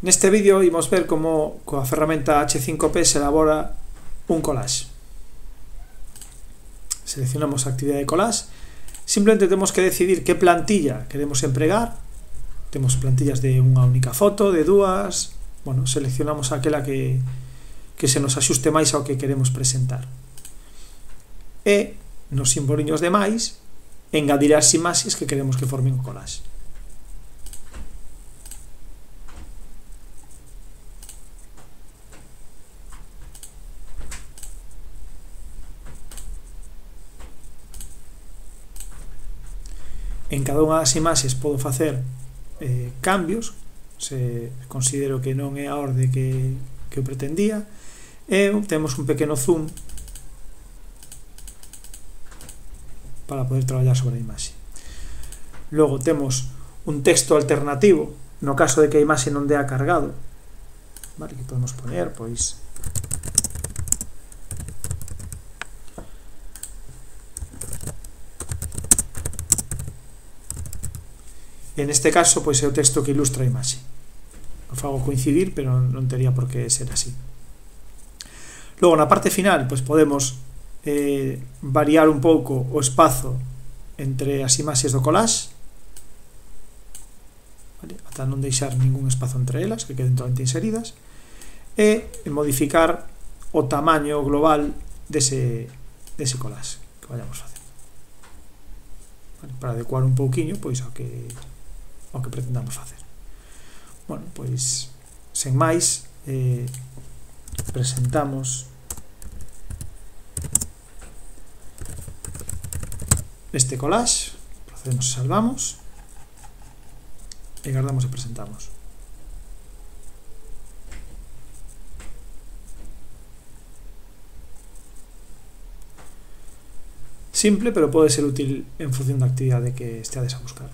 Neste vídeo imos ver como coa ferramenta H5P se elabora un collage. Seleccionamos a actividade de collage. Simplemente temos que decidir que plantilla queremos empregar. Temos plantillas de unha única foto, de dúas. Bueno, seleccionamos aquela que se nos axuste máis ao que queremos presentar. E nos simboliños de máis engadir as imaxes que queremos que formen o collage. En cada unha das imaxes podo facer cambios se considero que non é a orde que eu pretendía, e temos un pequeno zoom para poder traballar sobre a imaxe. Logo temos un texto alternativo no caso de que a imaxe non dea cargado, vale, que podemos poner, pois en este caso pois é o texto que ilustra a imaxe. O fago coincidir, pero non tería por que ser así. Logo na parte final pois podemos variar un pouco o espazo entre as imaxes do collage, vale, ata non deixar ningún espazo entre elas, que queden totalmente inseridas, e modificar o tamaño global dese collage que vayamos facendo, vale, para adecuar un pouquiño pois ao que pretendamos facer. Bueno, pois sen máis, presentamos este collage, procedemos e salvamos e guardamos e presentamos. Simple, pero pode ser útil en función da actividade que esteades a buscar.